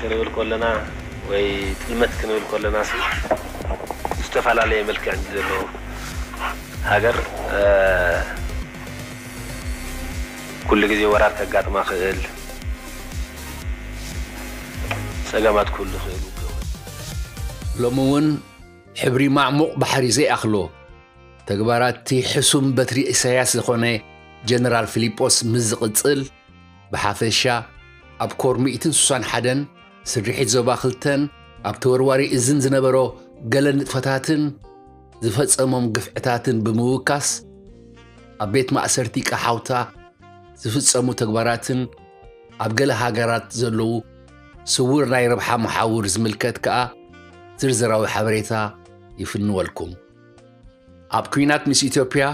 ክንብል ከለና ወይ ጥልመት ክንብል ከለና ሲ ዝተፈላለየ መልክዕ ዘለዎ ሃገር ኩሉ ግዜ ወራር ከጋጥማ ክእል ጸገማት ኩሉ ክእል ሎሚ እውን ሕብሪ ማዕሙቕ ባሕሪ ዘይኣኽሎ ተግባራት እቲ ሕሱም በትሪ ኢሳያስ ዝኾነ ጀነራል ፊሊጶስ ምስ ዝቕጽል፣ ብሓፈሻ ኣብ ኮር ሚእትን ስሳን ሓደን ስርሒት ዞባ ክልተን ኣብ ተወርዋሪ እዝን ዝነበሮ ገለ ንጥፈታትን ዝፈጸሞም ግፍዕታትን ብምውካስ ኣብ ቤት ማእሰርቲ ቀሓውታ ዝፍጸሙ ተግባራትን ኣብ ገለ ሃገራት ዘለዉ ስውር ናይ ረብሓ መሓውር ዝምልከት ከኣ ዝርዝራዊ ሓበሬታ ይፍንወልኩም። ኣብ ኲናት ምስ ኢትዮጵያ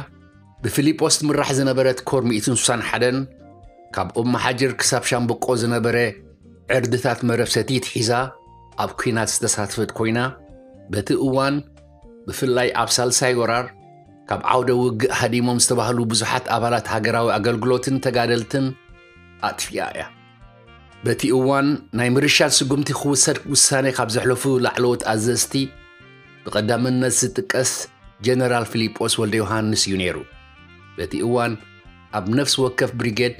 ብፊሊጶስ ትምራሕ ዝነበረት ኮር ሚእትን ስሳን ሓደን ካብ ኦም መሓጅር ክሳብ ሻምበቆ ዝነበረ ዕርድታት መረብ ሰቲት ሒዛ ኣብ ኲናት ዝተሳትፈት ኮይና በቲ እዋን ብፍላይ ኣብ ሳልሳይ ወራር ካብ ዓውደ ውግእ ሃዲሞም ዝተባህሉ ብዙሓት ኣባላት ሃገራዊ ኣገልግሎትን ተጋደልትን ኣጥፊኣ እያ። በቲ እዋን ናይ ምርሻን ስጉምቲ ክውሰድ ውሳኔ ካብ ዘሕለፉ ላዕለዎት ኣዘዝቲ ብቐዳምነት ዝጥቀስ ጀነራል ፊሊጶስ ወልደ ዮሃንስ እዩ ነይሩ። በቲ እዋን ኣብ ነፍሲ ወከፍ ብሪጌድ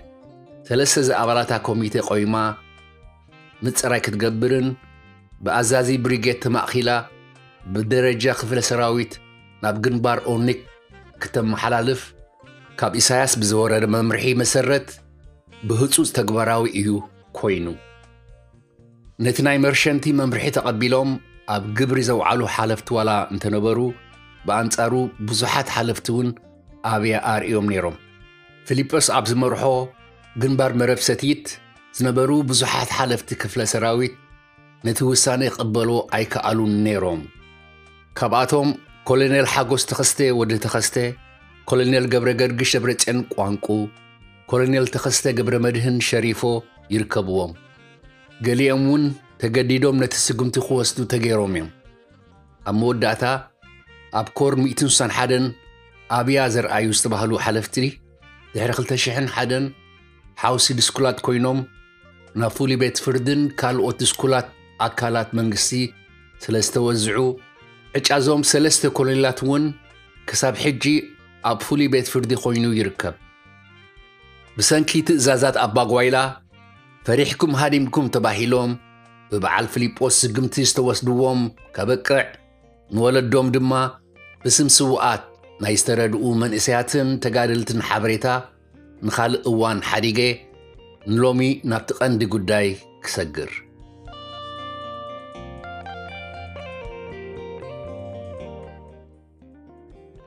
ሰለስተ ዝኣባላታ ኮሚቴ ቆይማ ምጽራይ ክትገብርን ብኣዛዚ ብሪጌድ ተማእኺላ ብደረጃ ክፍለ ሰራዊት ናብ ግንባር ኦኒክ ክተመሓላልፍ ካብ ኢሳያስ ብዝወረደ መምርሒ መሰረት ብህጹጽ ተግባራዊ እዩ ኮይኑ። ነቲ ናይ መርሸንቲ መምርሒ ተቐቢሎም ኣብ ግብሪ ዘውዓሉ ሓለፍቲ ዋላ እንተነበሩ ብኣንጻሩ ብዙሓት ሓለፍቲ እውን ኣብያ ኣርእዮም ነይሮም። ፊሊጶስ ኣብ ዝመርሖ ግንባር መረብ ሰቲት ዝነበሩ ብዙሓት ሓለፍቲ ክፍለ ሰራዊት ነቲ ውሳኔ ክቕበልዎ ኣይከኣሉን ነይሮም። ካብኣቶም ኮሎኔል ሓጎስ ተኸስተ ወዲ ተኸስተ፣ ኮሎኔል ገብረ ገርግሽ ደብረጽዮን ቋንቁ፣ ኮሎኔል ተኸስተ ገብረ መድህን ሸሪፎ ይርከብዎም። ገሊኦም እውን ተገዲዶም ነቲ ስጉምቲ ክወስዱ ተገይሮም እዮም። ኣብ መወዳእታ ኣብ ኮር ሚእትን ስሳን ሓደን ኣብያ ዘርኣዩ ዝተባህሉ ሓለፍቲ ድሕሪ ክልተ ሽሕን ሓደን ሓውሲ ድስኩላት ኮይኖም ናብ ፍሉይ ቤት ፍርድን ካልኦት ድስኩላት ኣካላት መንግስቲ ስለ ዝተወዝዑ ዕጫዞም ሰለስተ ኮሎኔላት እውን ክሳብ ሕጂ ኣብ ፍሉይ ቤት ፍርዲ ኮይኑ ይርከብ። ብሰንኪ ትእዛዛት ኣባጓይላ ፈሪሕኩም ሃዲምኩም ተባሂሎም ብበዓል ፊሊጶስ ስግምቲ ዝተወስድዎም ከበቅዕ ንወለዶም ድማ ብስም ስውኣት ናይ ዝተረድኡ መንእሰያትን ተጋደልትን ሓበሬታ ንኻልእ እዋን ሓዲገ ንሎሚ ናብቲ ቀንዲ ጉዳይ ክሰግር።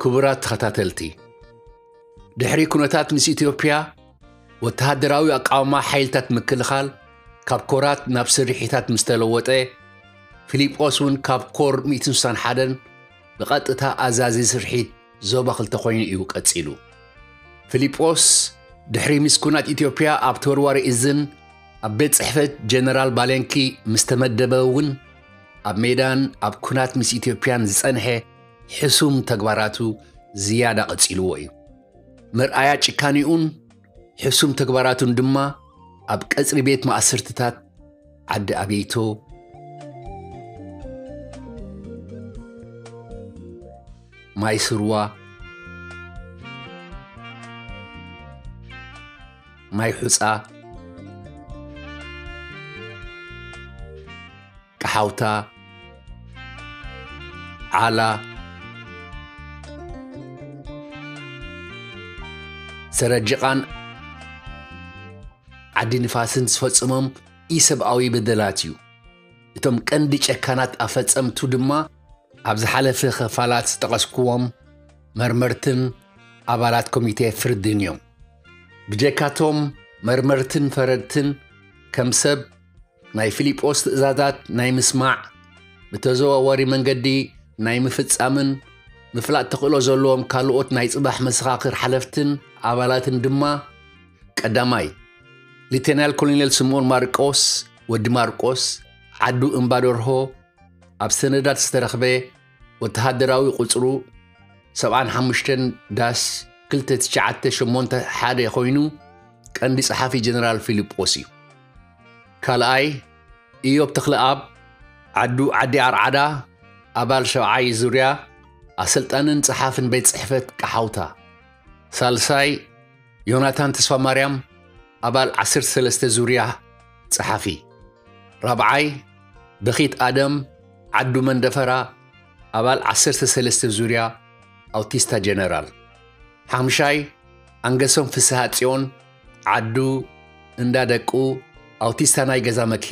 ክቡራት ተኸታተልቲ፣ ድሕሪ ኩነታት ምስ ኢትዮጵያ ወተሃደራዊ ኣቃውማ ሓይልታት ምክልኻል ካብ ኮራት ናብ ስርሒታት ምስ ተለወጠ፣ ፊሊጶስ እውን ካብ ኮር ሚእትን ስሳን ሓደን ብቐጥታ ኣዛዚ ስርሒት ዞባ ክልተ ኮይኑ እዩ ቀጺሉ። ፊሊጶስ ድሕሪ ምስ ኩናት ኢትዮጵያ ኣብ ተወርዋሪ እዝን ኣብ ቤት ጽሕፈት ጀነራል ባሌንኪ ምስ ተመደበ እውን ኣብ ሜዳን ኣብ ኩናት ምስ ኢትዮጵያን ዝጸንሐ ሕሱም ተግባራቱ ዝያዳ ቀጺልዎ እዩ። መርኣያ ጭካኔኡን ሕሱም ተግባራቱን ድማ ኣብ ቀጽሪ ቤት ማእሰርትታት ዓዲ ኣቤይቶ፣ ማይ ስርዋ፣ ማይ ሑጻ፣ ቀሓውታ፣ ዓላ፣ ሰረጅቓን ዓዲ ንፋስን ዝፈጸሞም ኢሰብኣዊ በደላት እዩ። እቶም ቀንዲ ጨካናት ኣፈጸምቱ ድማ ኣብ ዝሓለፈ ክፋላት ዝጠቐስኩዎም መርመርትን ኣባላት ኮሚቴ ፍርድን እዮም። ብጀካቶም መርመርትን ፈረድትን ከም ሰብ ናይ ፊሊጶስ ትእዛዛት ናይ ምስማዕ፣ ብተዘዋዋሪ መንገዲ ናይ ምፍጻምን ምፍላጥ ተኽእሎ ዘለዎም ካልኦት ናይ ጽባሕ መሰኻኽር ሓለፍትን ኣባላትን ድማ፣ ቀዳማይ፣ ሊተናል ኮሎኔል ስምኦን ማርቆስ ወዲ ማርቆስ፣ ዓዱ እምባደርሆ፣ ኣብ ሰነዳት ዝተረኽበ ወተሃደራዊ ቁጽሩ ሰብዓን ሓሙሽተን ዳሽ ክልተ ትሽዓተ ሸሞንተ ሓደ ኮይኑ፣ ቀንዲ ጸሓፊ ጀነራል ፊሊጶስ እዩ። ካልኣይ፣ ኢዮብ ተኽለኣብ፣ ዓዱ ዓዲ ኣርዓዳ፣ ኣባል ሸብዓይ ዙርያ ኣሰልጣንን ጸሓፍን ቤት ጽሕፈት ቀሓውታ። ሳልሳይ ዮናታን ተስፋማርያም፣ ኣባል ዓሰርተ ሰለስተ ዙርያ ጸሓፊ። ራብዓይ በኺት ኣደም፣ ዓዱ መንደፈራ፣ ኣባል ዓሰርተ ሰለስተ ዙርያ ኣውቲስታ ጀነራል። ሓምሻይ ኣንገሶም ፍስሃ ጽዮን፣ ዓዱ እንዳ ደቁ፣ ኣውቲስታ ናይ ገዛ መኪና።